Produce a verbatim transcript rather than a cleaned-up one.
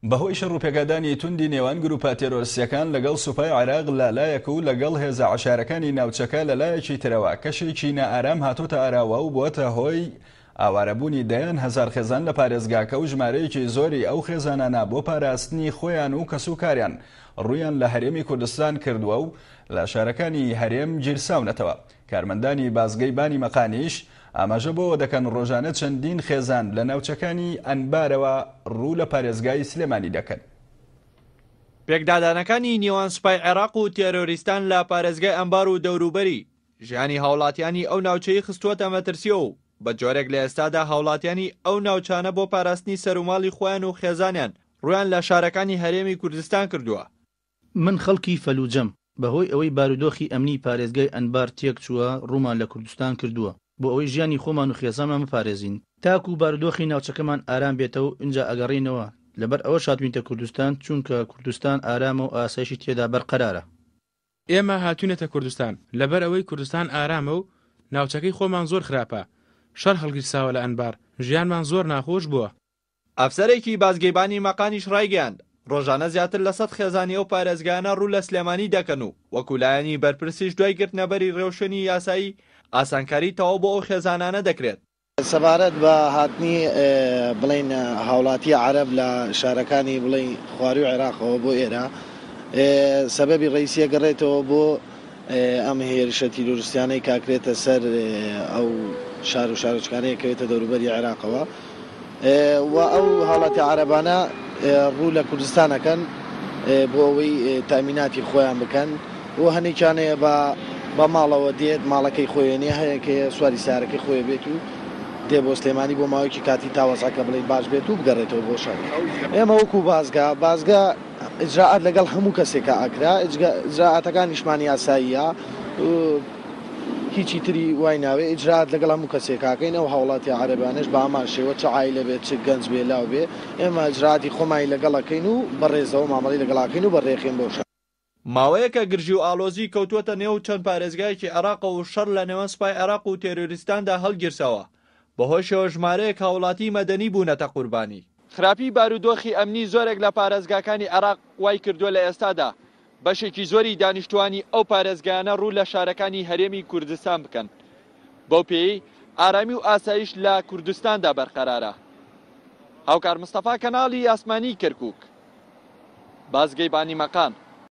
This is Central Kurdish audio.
بەهۆی شەڕ و پێکدادانی توندی نێوان گروپە تێرۆریستیەکان لەگەڵ سوپای عێراق لە لایەک و لەگەڵ هێزە عەشایەرەکانی ناوچەکە لە لایەکی ترەوە کەشێکی نائارام هاتۆتە ئاراوە و بۆتە هۆی ئاوارەبوونی دەیان هەزار خێزان لە پارێزگاکە و ژمارەیەکی زۆری ئەو خێزانانە بۆ پاراستنی خۆیان و کەسوکاریان ڕوویان لە هەرێمی کوردستان کردووە و لە شارەکانی هەرێم گیرساونەتەوە. کارمەندانی بازگەی بانی مەقانیش ئاماژە بۆ دەکەن ڕۆژانە چەندین خێزان لە ناوچەکانی ئەنبارەوە ڕوو لە پارێزگای سلێمانی دەکەن. پێکدادانەکانی نێوان سوپای عێراق و تێرۆریستان لە پارێزگای ئەنبار و دەوروبەری ژیانی هاوڵاتیانی ئەو ناوچەی خستووەتە مەترسیەوە و بە جۆرێک لە ئێستادا هاوڵاتیانی ئەو ناوچانە بۆ پاراستنی سەروماڵی خۆیان و خێزانیان ڕویان لە شارەکانی هەرێمی کوردستان کردووە. من خەڵکی فەلوجەم، بەهۆی ئەوەی بارودۆخی ئەمنی پارێزگای ئەنبار تێکچووە ڕوومان لە کوردستان کردووە بۆ ئەوەی ژیانی خۆمان و خێزانمان بپارێزین، تاکو بارودۆخی ناوچەکەمان ئارام بێتەوە ئینجا ئەگەڕێینەوە، لەبەر ئەوەش هاتووینتە کوردستان چونکە کوردستان ئارامە و ئاسایشی تێدا بەرقەرارە. ئێمە هاتوینەتە کوردستان لەبەر ئەوەی کوردستان ئارامە و ناوچەکەی خۆمان زۆر خراپە، شەڕ هەڵگیرساوە لە ئەنبار، ژیانمان زۆر ناخۆش بووە. ئەفسەرێکی بازگەیبانی مەقانیش ڕایگەیاند، ڕۆژانە زیاتر لە سەد خێزانی ئەو پارێزگایانە ڕوو لە سلێمانی دەکەن و وەکو لایەنی بەرپرسیش دوای گرتنەبەری ڕێوشوێنی یاسایی ئاسانکاری تەواو بۆ ئەو خێزانانە دەکرێت. سەبارەت بە هاتنی بڵین هاوڵاتی عەرەب لە شارەکانی بڵین خواروی عێراقەوە بۆ ئێرە، سەبەبی ڕئیسیە گەڕێتەوە بۆ ئەم هێرشە تیرۆریستیانەی کاکرێتە سەر ئەو شار و شارۆچکانەیە کەوێتە دەوروبەری عێراقەوە و ئەو هاوڵاتی عەرەبانە ڕوو لە کوردستانەکەن بۆ ئەوەی تامیناتی خۆیان بکەن و هەنێکیانەیە بە بە ماڵەوە دێت، ماڵەکەی خۆیانە هەیە کە سواری سارەکەی خۆی بێت و دێ بۆ سلێمانی بۆ ماوەیەکی کاتی تا وەزعەکە بڵێ باش بێت و بگەڕێتەوە بۆ شار. ئێمە وەکو بازگە بازگە ئیجراعات لەگەڵ هەموو کەسێکە ئەکرا، ئیجراعاتەکانیشمان یاساییە، هیچی تری وای ناوێ، ئیجراعات لەگەڵ هەموو کەسێکاکەین. ئەو هاوڵاتی عەرەبانەش بە هەمان شێوە چ عایلە بێت چ گەنج بێ لاو بێ، ئێمە ئیجراعاتی خۆمانی لەگەڵەکەین و بەڕێزەوە مامەڵەی لەگەڵاکەین و بەڕێخین بۆ شار. ماوەیەکە گرژی و ئالۆزی کەوتووەتە نێو چەند پارێزگایەکی عێراق و شەڕ لە نێوان سوپای عێراق و تێرۆریستاندا هەڵگیرساوە، بەهۆشەوە ژمارەیەک هاوڵاتی مەدەنی بوونەتە قوربانی. خراپی بارودۆخی ئەمنی زۆرێک لە پارێزگاکانی عێراق وای کردووە لە ئێستادا بەشێکی زۆری دانیشتوانی ئەو پارێزگایانە ڕوو لە شارەکانی هەرێمی کوردستان بکەن، بەو پێی ئارامی و ئاسایش لە کوردستاندا بەرقەرارە. هاوکار مستەفا، کەناڵی ئاسمانی کەرکووک، بازگەی بانی مەقان.